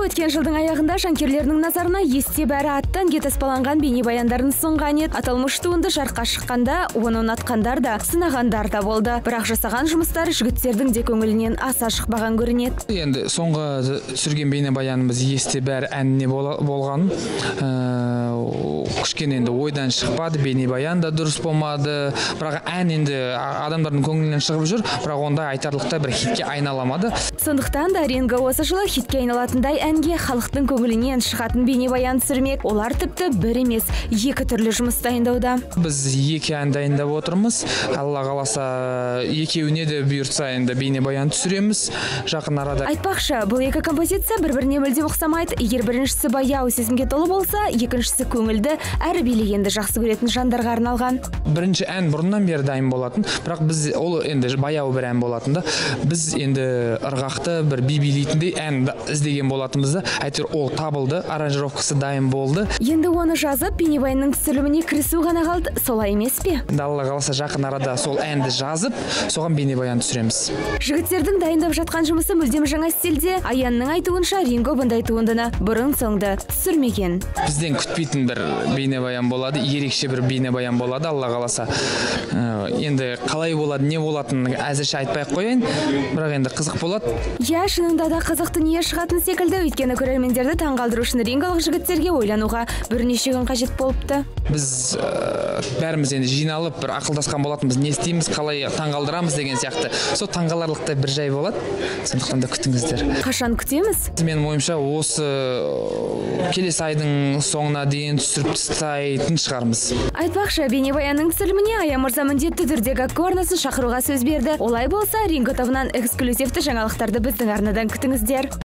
өткен жылдың аяғында жанкүйерлерінің назарына есте бәрі аттан таспаланған бейнебаяндарын ұсынған еді. Аталмыш туынды жарыққа шыққанда, оны ұнатқандар да, сынағандар да болды. Бірақ жасаған жұмыстары жігіттердің де көңілінен аса шықпаған көрінеді. Енді соңғы түсірген бейнебаянымыз есте бәрі әніне болған. Кішкене енді ойдан шықпады, бейнебаян да дұрыс болмады. Бірақ ән енді адамдардың көңілінен шығып жүр, бірақ онда айтарлықтай бір хитке айналамады. Сондықтан да Ринго осы жылы хитке айналатындай әнге халықтың көңілінен шығатын бейнебаян түсірмек. Олар тіпті бір емес, екі түрлі жұмыс дайындауда. Біз екі ән дайындап отырмыз. Алла қаласа екеуіне де бұйыртса енді бейнебаян түсіреміз жақын арада. Айтпақшы, бұл екі композиция бір-біріне мүлде ұқсамайды. Егер біріншісі баяу сезімге толы болса, екіншісі көңілді әрі билегенді жақсы көретін жандарға арналған. Бірінші ән бұрыннан бері дайын болатын, бірақ біз ол енді баяу бір ән болатын да. Біз енді ырғақты бір би билейтіндей ән іздеген болатынбызды. Әйтеуір ол табылды, аранжировкасы дайын болды. Енді оны жазып, бейнебаянның түсіріліміне кірісу ғана қалды, солай емес пе? Алла қаласа жақын арада сол әнді жазып, соған бейнебаян түсіреміз. Жігіттердің дайындап жатқан жұмысы мүлдем жаңа стильде. Аянның айтуынша, Ринго бұндай туындыны бұрын-соңды түсірмеген. Бізден күтпейтін бір бейнебаян болады, ерекше бір бейнебаян болады, Алла қаласа. Енді қалай болады, не болатынын әзірше айтпай қояйын, бірақ енді қызық болады. Я, шынында да қызық дүние шығатын секілді, өйткені көрермендерді таңғалдыру үшін ринголық жігіттерге ойлануға бірнеше күн қажет болыпты. Біз бәріміз енді жиналып бір ақылдасқан болатынбыз, не істейміз, қалай таңғалдырамыз деген сияқты. Сол таңғаларлықтай бір жай болады, сондықтан да күтіңіздер. Қашан күтеміз? Менің ойымша осы келесі айдың соңына дейін түсіріп тастайтын шығармыз. Айтпақшы, бейнебаянның түсіріліміне Ая мырза міндетті түрде Гакку арнасын шақыруға сөз берді. Олай болса, Ринго тобынан эксклюзивті жаңалықтарды біздің арнадан күтіңіздер.